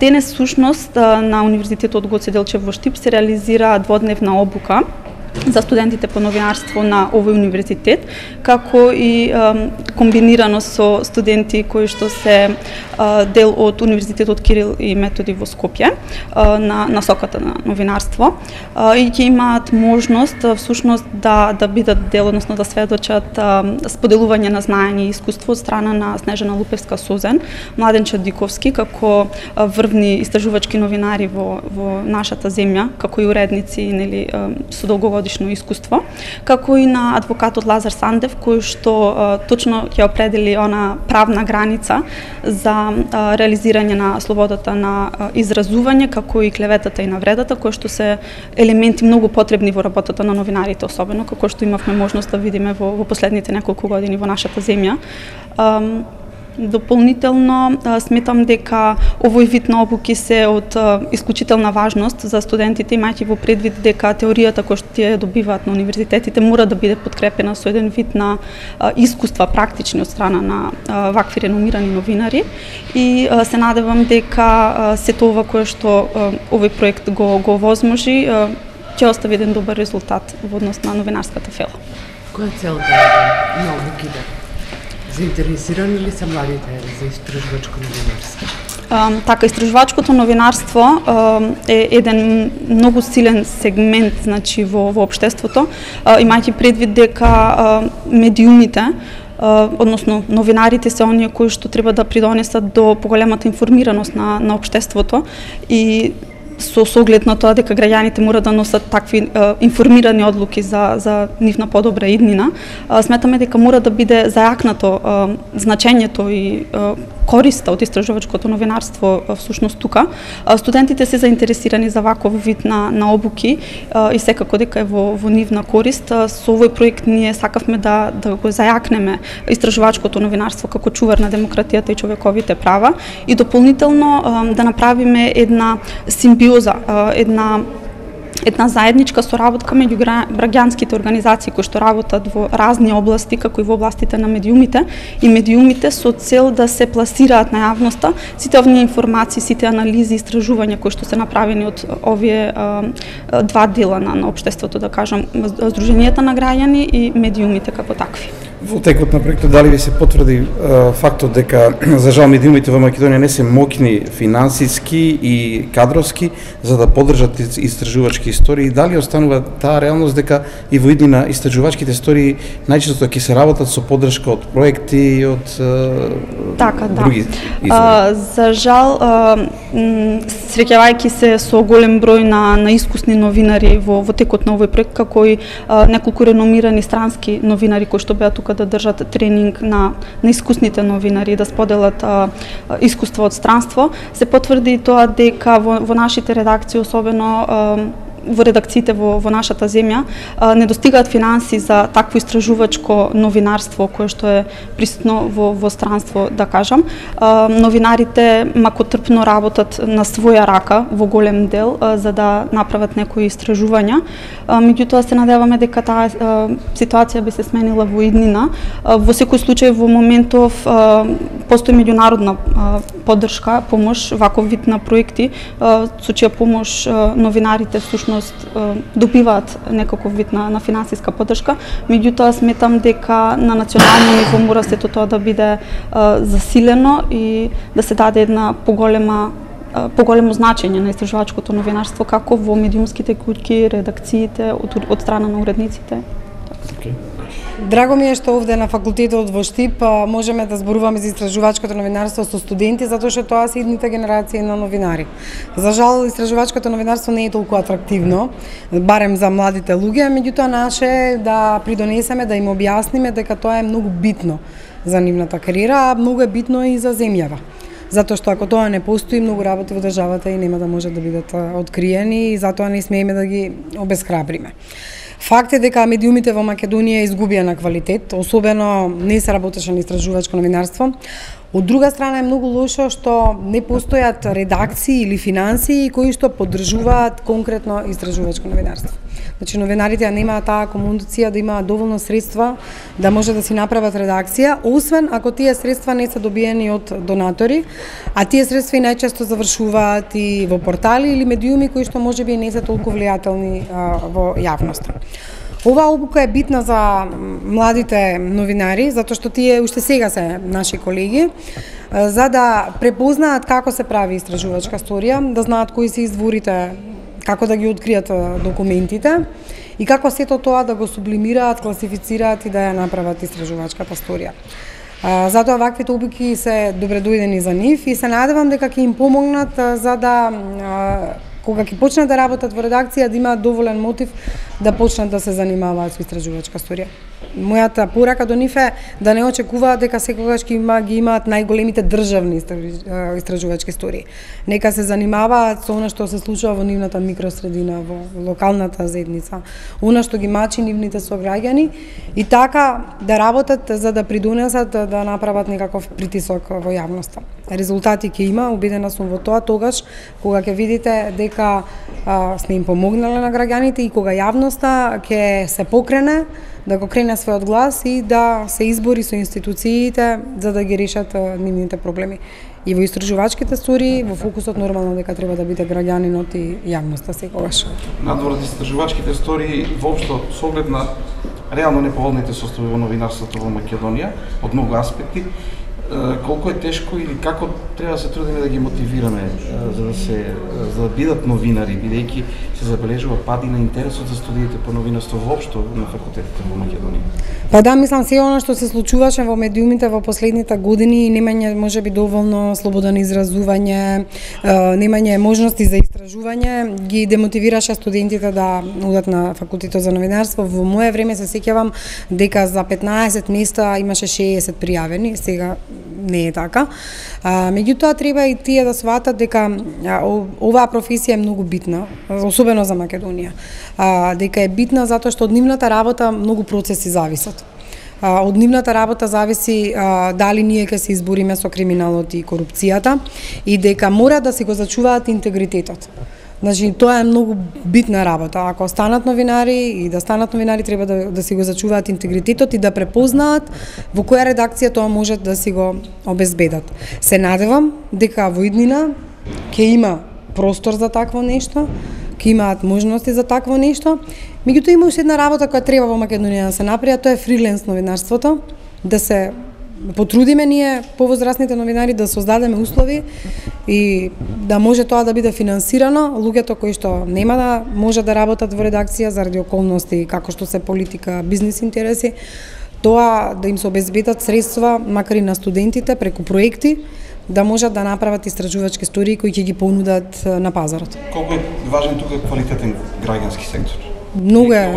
Денес сушност на Универзитетот Гоце Делчев во Штип се реализира дводневна обука за студентите по новинарство на овој универзитет, како и комбинирано со студенти кои што се дел од Универзитетот Кирил и Методи во Скопје на насоката на новинарство и ќе имаат можност всушност да бидат дел, односно да сведочат споделување на знаење и искуство од страна на Снежана Лупевска-Созен, Младен Чадиковски како врвни истражувачки новинари во нашата земја, како и уредници, нели, со долгогодишно искуство, како и на адвокатот Лазар Сандев, кој што точно ќе определи она правна граница за реализирање на слободата на изразување, како и клеветата и навредата, кои што се елементи многу потребни во работата на новинарите, особено како што имавме можност да видиме во последните неколку години во нашата земја. Дополнително сметам дека овој вид на обуки се од исклучителна важност за студентите, имајќи во предвид дека теоријата која што тие добиваат на универзитетите мора да биде подкрепена со еден вид на искуства практични од страна на вакви реномирани новинари и се надевам дека сето ова кое што овој проект го возможи ќе остави еден добар резултат во однос на новинарската фела. Која е целта на обуките? Заинтересирани ли се младите за истражувачко новинарство? Така, истражувачкото новинарство е еден многу силен сегмент, значи, во општеството, имајќи предвид дека медиумите, односно новинарите се оние кои што треба да придонесат до поголемата информираност на општеството и со оглед на тоа дека граѓаните мора да носат такви информирани одлуки за нивна подобра иднина, сметаме дека мора да биде зајакнато значењето и користа од истражувачкото новинарство всушност тука. Студентите се заинтересирани за ваков вид на обуки и секако дека е во нивна корист. Со овој проект ние сакавме да го зајакнеме истражувачкото новинарство како чувар на демократијата и човековите права и дополнително да направиме една симбиоза, една заедничка соработка меѓу граѓанските организации кои што работат во разни области, како и во областите на медиумите и медиумите со цел да се пласираат на јавноста сите овие информации, сите анализи и истражувања кои што се направени од овие два дела на општеството, да кажам, Сдруженијата на граѓани и медиумите како такви. Во текот на проектот дали ви се потврди фактот дека за жал медиумите во Македонија не се моќни финансиски и кадровски за да поддржат истражувачки истории и дали останува таа реалност дека и во иднина истражувачките истории најчесто ќе се работат со поддршка од проекти и од други извори? За жал, среќавајќи се со голем број на искусни новинари во текот на овој проект, како и неколку реномирани странски новинари кои што беа тука да држат тренинг на искусните новинари да споделат искуство од странство, се потврди тоа дека во нашите редакции, особено во редакциите во нашата земја, не достигаат финанси за такво истражувачко новинарство кое што е присутно во странство, да кажам. Новинарите макотрпно работат на своја рака во голем дел за да направат некои истражувања. Меѓутоа се надеваме дека таа ситуација би се сменила во иднина. Во секој случај во моментов постои меѓународна поддршка, помош, ваков вид на проекти со чија помош новинарите всушност добиваат некаков вид на финансиска поддршка, меѓутоа сметам дека на национално ниво мора сето тоа да биде засилено и да се даде една поголемо значење на истражувачкото новинарство како во медиумските куќи, редакциите, од страна на уредниците. Драго ми е што овде на факултетот во Штип можеме да зборуваме за истражувачкото новинарство со студенти, затоа што тоа се идните генерации на новинари. За жал, истражувачкото новинарство не е толку атрактивно, барем за младите луѓе, меѓутоа наше е да придонесеме, да им објасниме дека тоа е многу битно за нивната кариера, а многу е битно и за земјава. Затоа што ако тоа не постои, многу работи во државата и нема да може да бидат откриени и затоа не смееме да ги обесхрабриме. Факт е дека медиумите во Македонија изгубија на квалитет, особено не се работеше на истражувачко новинарство. Од друга страна е многу лошо што не постојат редакции или финансии кои што поддржуваат конкретно истражувачко новинарство. Значи новинарите немаат таа комуниција да имаат доволно средства да може да си направат редакција, освен ако тие средства не се добиени од донатори, а тие средства и најчесто завршуваат и во портали или медиуми кои што можеби не се толку влијателни во јавноста. Оваа обука е битна за младите новинари, затоа што тие уште сега се наши колеги, за да препознаат како се прави истражувачка историја, да знаат кои се изворите, како да ги откријат документите и како сето тоа да го сублимираат, класифицираат и да ја направат истражувачката историја. Затоа ваквите обуки се добредојдени за нив и се надевам дека ќе им помогнат за да кога ќе почнат да работат во редакција да имаат доволен мотив да почнат да се занимаваат со истражувачка историја. Мојата порака до нив е да не очекуваат дека секогаш ги имаат најголемите државни истражувачки истории. Нека се занимаваат со она што се случува во нивната микросредина, во локалната заедница, она што ги мачи нивните сограѓани и така да работат за да придонесат да направат некаков притисок во јавноста. Резултати ќе има, убедена сум во тоа тогаш кога ќе видите дека сме им помогнале на граѓаните и кога јавноста ќе се покрене да го крене својот глас и да се избори со институциите за да ги решат нивните проблеми. И во истражувачките истории, во фокусот нормално дека треба да биде граѓанинот и јавноста секогаш. Надвор од истражувачките истории, воопшто со оглед на реално неповолните состојби во новинарството во Македонија, од многу аспекти, колку е тешко или како треба да се трудиме да ги мотивираме за да бидат новинари, бидејќи се забележува пад и на интересот за студиите по новинарство воопшто на факултетите во Македонија? Па да, мислам се она што се случуваше во медиумите во последните години, немање можеби доволно слобода на изразување, немање можности за истражување, ги демотивираше студентите да одат на факултетот за новинарство. Во мое време се сеќавам дека за 15 места имаше 60 пријавени, сега не е така. Меѓутоа треба и тие да сватат дека оваа професија е многу битна, особено за Македонија. Дека е битна затоа што од нивната работа многу процеси зависат. Од нивната работа зависи дали ние ќе се избориме со криминалот и корупцијата и дека мора да си го зачуваат интегритетот. Значи, тоа е многу битна работа. Ако станат новинари и да станат новинари треба да си го зачуваат интегритетот и да препознаат во која редакција тоа може да си го обезбедат. Се надевам дека во иднина ќе има простор за такво нешто, ќе имаат можности за такво нешто. Меѓутоа има уште една работа која треба во Македонија да се направи, тоа е фриленс новинарството, да се потрудиме ние повозрастните новинари да создадеме услови и да може тоа да биде финансирано, луѓето кои што нема да може да работат во редакција заради околности како што се политика, бизнис интереси, тоа да им се обезбедат средства, макар и на студентите преку проекти, да можат да направат истражувачки истории кои ќе ги понудат на пазарот. Колку е важен тука квалитетен граѓански сектор? Многу е.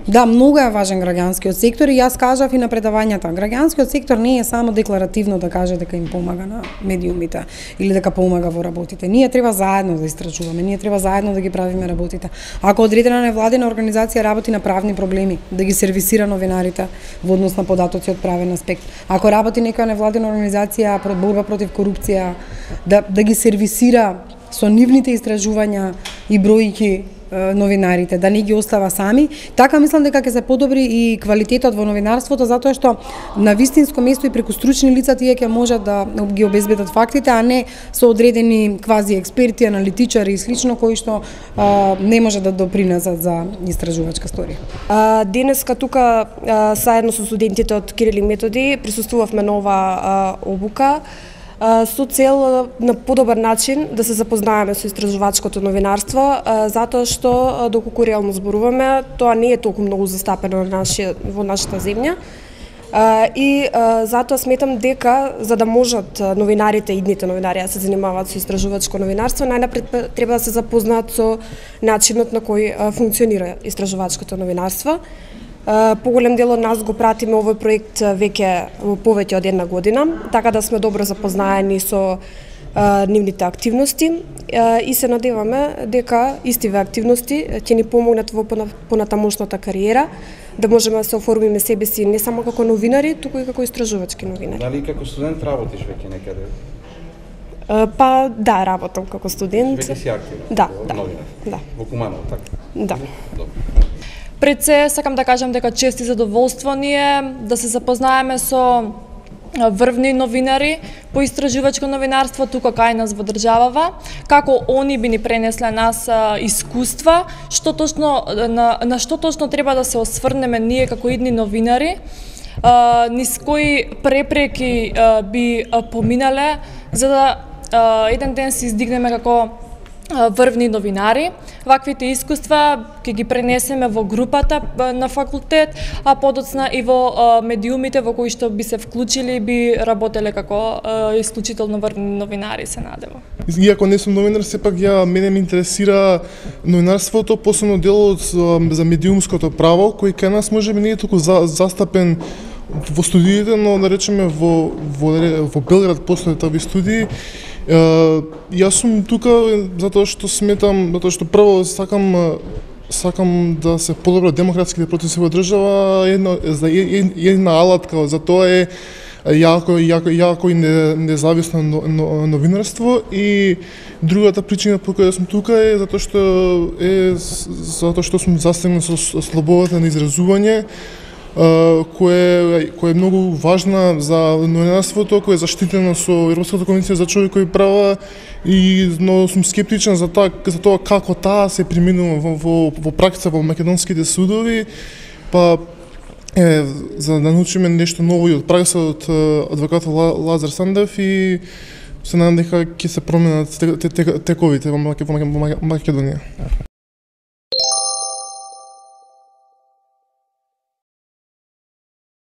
Да, многу е важен граѓанскиот сектор и јас кажав и на предавањата. Граѓанскиот сектор не е само декларативно да каже дека им помага на медиумите или дека помага во работите. Ние треба заедно да истражуваме, ние треба заедно да ги правиме работите. Ако одредена невладина организација работи на правни проблеми, да ги сервисира новинарите во однос на податоци од правен аспект. Ако работи некоја невладина организација про борба против корупција, да ги сервисира со нивните истражувања и бројки новинарите, да не ги остава сами. Така мислам дека ќе се подобри и квалитетот во новинарството, затоа што на вистинско место и преку стручни лица тие ќе можат да ги обезбедат фактите, а не со одредени квази експерти, аналитичари и слично кои што не може да допринесат за истражувачка историја. Денеска тука заедно со студентите од Кирил и Методи присуствувавме на оваа обука со цел на подобар начин да се запознаеме со истражувачкото новинарство, затоа што доколку реално зборуваме, тоа не е толку многу застапено во нашата земја. И затоа сметам дека за да можат новинарите, идните новинари да се занимаваат со истражувачко новинарство, најнапред треба да се запознаат со начинот на кој функционира истражувачкото новинарство. Поголем дел од нас го пратиме овој проект веќе во повеќе од една година, така да сме добро запознаени со нивните активности и се надеваме дека истиве активности ќе ни помогнат во понатамошната кариера, да можеме да се оформиме себе си не само како новинари, туку и како истражувачки новинари. Дали како студент работиш веќе некаде? Па да, работам како студент. Веќе си активна? Да, новинар? Да. Во Куманово, така? Да. Добро. Пред се, сакам да кажам дека чест и задоволство ни е да се запознаеме со врвни новинари по истражувачко новинарство тука кај нас во државава, како они би ни пренесле нас искуства, што точно на што точно треба да се осврнеме ние како идни новинари, низ кои препреки би поминале за да еден ден се издигнеме како врвни новинари. Ваквите искуства ќе ги пренесеме во групата на факултет, а подоцна и во медиумите во кои што би се вклучили и би работеле како исклучително врвни новинари, се надева. Иако не сум новинар, сепак мене ме интересира новинарството, посебно делот за медиумското право, кој кај нас можеби не е толку застапен во студиите, но да речеме во Белград постојат такви студии. Јас сум тука затоа што сметам, затоа што прво сакам да се подобрат демократските процеси во држава, една алатка за тоа е јако и независно новинарство, и другата причина по која сум тука е затоа што сум застигнат со слободата на изразување, кој е многу важна за новинарството, кој е заштитено со Европската конвенција за човекови права, но сум скептичен за тоа како таа се применува во пракса во македонските судови, па за да научиме нешто ново и од пракса од адвокатот Лазар Сандев, и се надам дека ќе се променат тековите во Македонија.